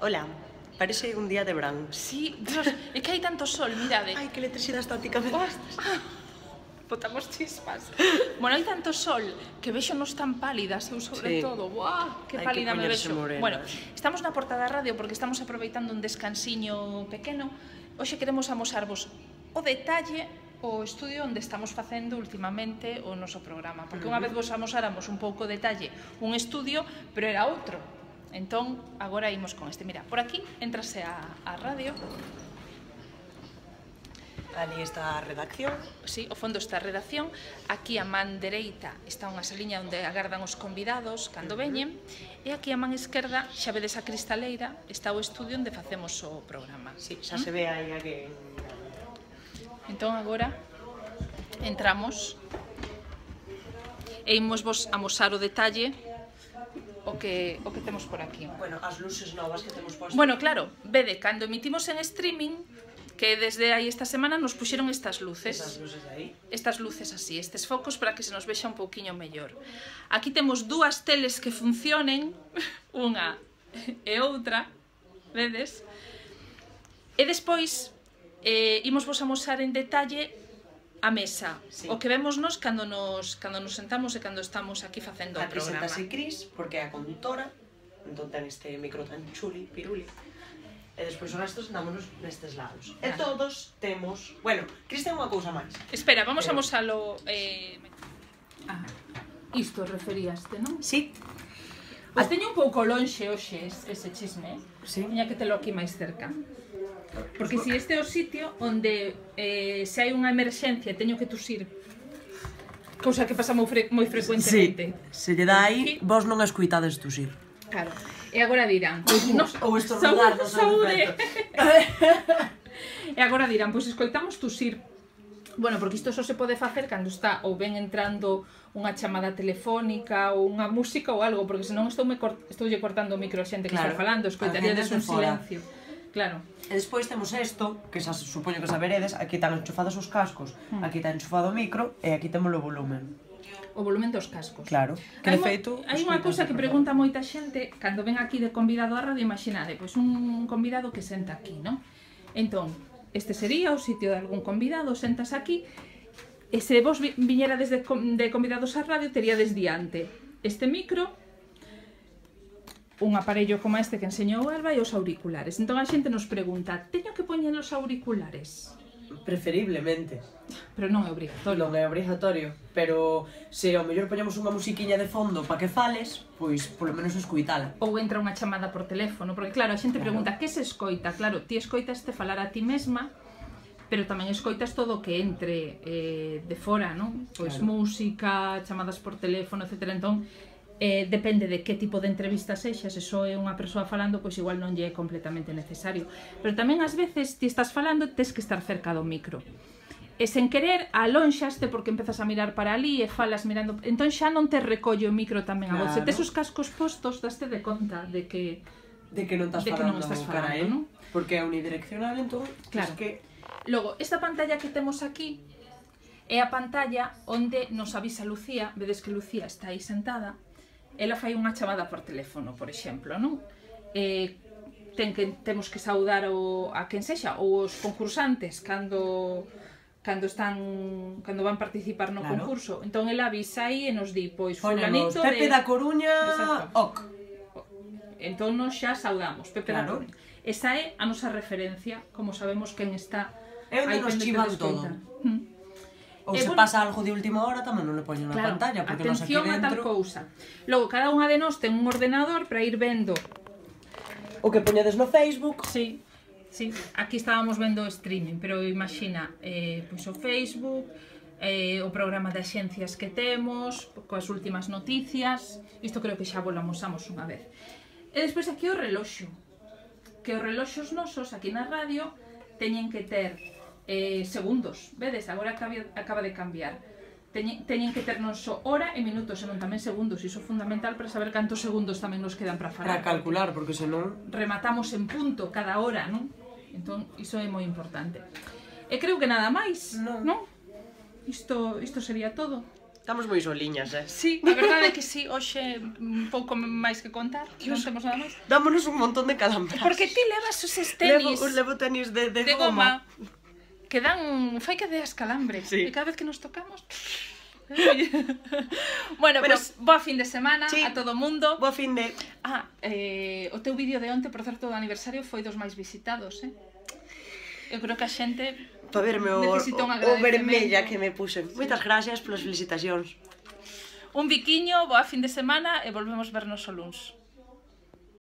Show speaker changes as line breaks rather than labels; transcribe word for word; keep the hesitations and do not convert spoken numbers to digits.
Hola, parece un día de verán.
Sí, Dios, é que hai tanto sol, mirade.
Ai, que electricidade estática me
das. Botamos chispas. Bueno, hai tanto sol que vexo nos tan pálidas, eu sobre
sí.
todo. Buah, que
hai
pálida
que
me vexo.
Morenas.
Bueno, estamos na porta da radio porque estamos aproveitando un descansiño pequeno. Hoxe queremos amosarvos o detalle o estudio onde estamos facendo últimamente o noso programa. Porque unha vez vos amosáramos un pouco detalle un estudio, pero era outro. Entón, agora imos con este. Mira, por aquí entrase a, a radio.
Ali está a redacción.
Sí, ao fondo está a redacción. Aquí a man dereita está unha saliña onde agardan os convidados cando veñen. E aquí a man esquerda, xa vedes a cristaleira, está o estudio onde facemos o programa.
Sí, xa se ve aí alguén.
Entón agora entramos e imos vos amosar o detalle o que, o que temos por aquí.
Bueno, as luces novas que temos postas.
Bueno, claro, vede, cando emitimos en streaming, que desde aí esta semana nos puxeron estas luces.
Estas luces aí.
Estas luces así, estes focos para que se nos vexa un pouquiño mellor. Aquí temos dúas teles que funcionen, unha e outra, vedes? E despois, eh, imos vos amosar en detalle a mesa, sí. O que vemos nos cando nos, cando nos sentamos e cando estamos aquí facendo o programa.
Aquí sentase Cris, porque é a conductora, entón ten este micro tan chuli, piruli, e despois o resto sentámonos nestes lados. E todos temos... Bueno, Cris ten unha cousa máis.
Espera, vamos a amosalo... Eh... Ah, isto referíaste, non?
Sí.
Pois teño un pouco lonxe hoxe ese chisme,
sí.
Tiña que telo aquí máis cerca. Porque si este é o sitio onde eh, se hai unha emerxencia e teño que tusir, cousa que pasa moi, fre moi frecuentemente.
Sí, se lle dá aí, vos non escuitades tusir.
Claro. E agora dirán, pois nos,
ou estornudar, non
saúde. E agora dirán, pois escoitamos tusir. Bueno, porque isto só se pode facer cando está ou ben entrando unha chamada telefónica ou unha música ou algo, porque senón estou me cort estou lle cortando o micro a xente que claro, está falando, escoitaríades un silencio. Claro.
E despois temos isto, que xa supoño que saberedes, aquí están enchufados os cascos, hmm. aquí está enchufado o micro e aquí temos o volumen.
O volumen dos cascos.
Claro, que de feito...
Hai unha cousa que pregunta moita xente cando ven aquí de convidado á radio, imaginade, pois un convidado que senta aquí, non? Entón, este sería o sitio de algún convidado, sentas aquí, e se vos viñerades de convidados á radio, teríades diante este micro, un aparello como este que enseñou Alba e os auriculares. Entón a xente nos pregunta, teño que poñer os auriculares?
Preferiblemente.
Pero non é obrigatorio.
Non é obrigatorio, pero se ao mellor poñemos unha musiquiña de fondo para que fales, pois polo menos escoitala.
Ou entra unha chamada por teléfono, porque claro, a xente pregunta, que se escoita? Claro, ti escoitaste falar a ti mesma, pero tamén escoitas todo o que entre eh, de fora, non? Pois claro. Música, chamadas por teléfono, etcétera. Entón, Eh, depende de que tipo de entrevista sexa, se só é unha persoa falando, pois igual non lle é completamente necesario. Pero tamén ás veces ti estás falando e tes que estar cerca do micro. E sen querer, alonxaste porque empezas a mirar para ali e falas mirando... Entón xa non te recolle o micro tamén a voz. Se tes os cascos postos, daste de conta de que...
De que non estás falando, cara, eh? Porque é unidireccional, entón...
Claro. Que... Logo, esta pantalla que temos aquí é a pantalla onde nos avisa Lucía. Vedes que Lucía está aí sentada. Ela fai unha chamada por teléfono, por exemplo, non? Eh, ten que, temos que saudar o, a quen sexa, ou os concursantes cando, cando están cando van participar no claro. concurso. Entón ela avisa aí e nos di, pois fulanito de...
Pepe da Coruña, ok.
Entón nos xa saudamos, Pepe claro. da Coruña. Esa é a nosa referencia, como sabemos quen está
é onde nos chivan todo. Ou se pasa algo de última hora, tamén non le poñen na pantalla, porque nos aquí dentro...
Atención a tal cousa. Logo, cada unha de nós ten un ordenador para ir vendo...
O que poñedes no Facebook.
Sí, sí. Aquí estábamos vendo o streaming, pero imagina, eh, pois o Facebook, eh, o programa de axencias que temos, coas últimas noticias... Isto creo que xa volamosamos unha vez. E despois aquí o reloxo. Que os reloxos nosos, aquí na radio, teñen que ter... Eh, segundos, vedes, agora acaba de cambiar. Teñen, teñen que ter non só hora e minutos, senón tamén segundos. Iso é fundamental para saber cantos segundos tamén nos quedan para falar.
Para calcular, porque senón...
Rematamos en punto cada hora, non? Entón, iso é moi importante. E creo que nada máis, non? non? Isto, isto sería todo.
Estamos moi soliñas, eh?
Sí, a verdade é que sí, hoxe un pouco máis que contar, non temos nada máis.
Dámonos un montón de calambras.
Porque ti levas os
Levo,
tenis
levo tenis de, de,
de
goma.
goma que dan, fai que deas calambres.
Sí.
E cada vez que nos tocamos... bueno,
Bueno,
pues boa fin de semana
sí.
a todo o mundo.
Boa fin de...
Ah, eh, o teu vídeo de onte, por certo, do aniversario foi dos máis visitados, eh? Eu creo que a xente
Para verme o,
necesita un
o, o
agradecemento.
vermella que me puxen. Sí. Moitas gracias polas felicitacións.
Un biquiño, boa fin de semana e volvemos vernos o luns.